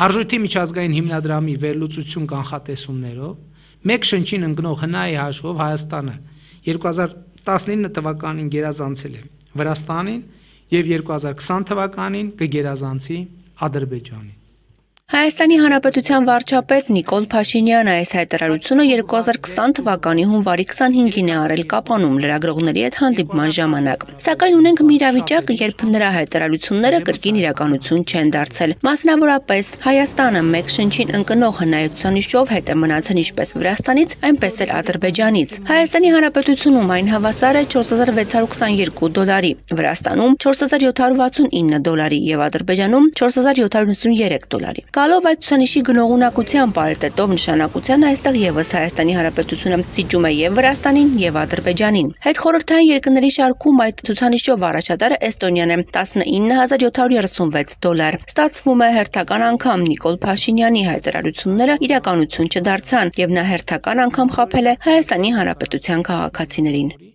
Արժույթի միջազգային հիմնադրամի վերլուծություն կանխատեսումներով մեկ շնչին ընկնող հնայի հաշվով Հայաստանը 2019 թվականին գերազանցել է Վրաստանին եւ 2020 թվականին կգերազանցի Ադրբեջանին։ Հայաստանի Հանրապետության վարչապետ Նիկոլ Փաշինյանը այս հայտարարությունը 2020 թվականի հունվարի 25-ին է արել Կապանում լրագրողների հետ հանդիպման ժամանակ։ Սակայն ունենք մի իրավիճակ, երբ նրա հայտարարությունները կրկին իրականություն չեն դարձել։ Մասնավորապես Հայաստանը մեկ շնչին ընկնող հնայությունիշով հետ է մնացել ինչպես Վրաստանից, այնպես էլ Ադրբեջանից։ Հայաստանի Հանրապետությունում այն հավասար է 4622 դոլարի, Վրաստանում 4769 դոլարի եւ Ադրբեջանում 4793 դոլարի։ Գալով այդ ցուցանիշի գնողունակության պարիտետով նշանակության այստեղ եւս Հայաստանի Հանրապետությունը զիջում է եւ Վրաստանին եւ Ադրբեջանին։ Հետխորհրդային երկրների շարքում այդ ցուցանիշով առաջատարը Էստոնիան է 19736 դոլար։ Ստացվում է հերթական անգամ Նիկոլ Փաշինյանի հայտարարությունները իրականություն չդարձան եւ նա հերթական անգամ խաբել է Հայաստանի Հանրապետության քաղաքացիներին։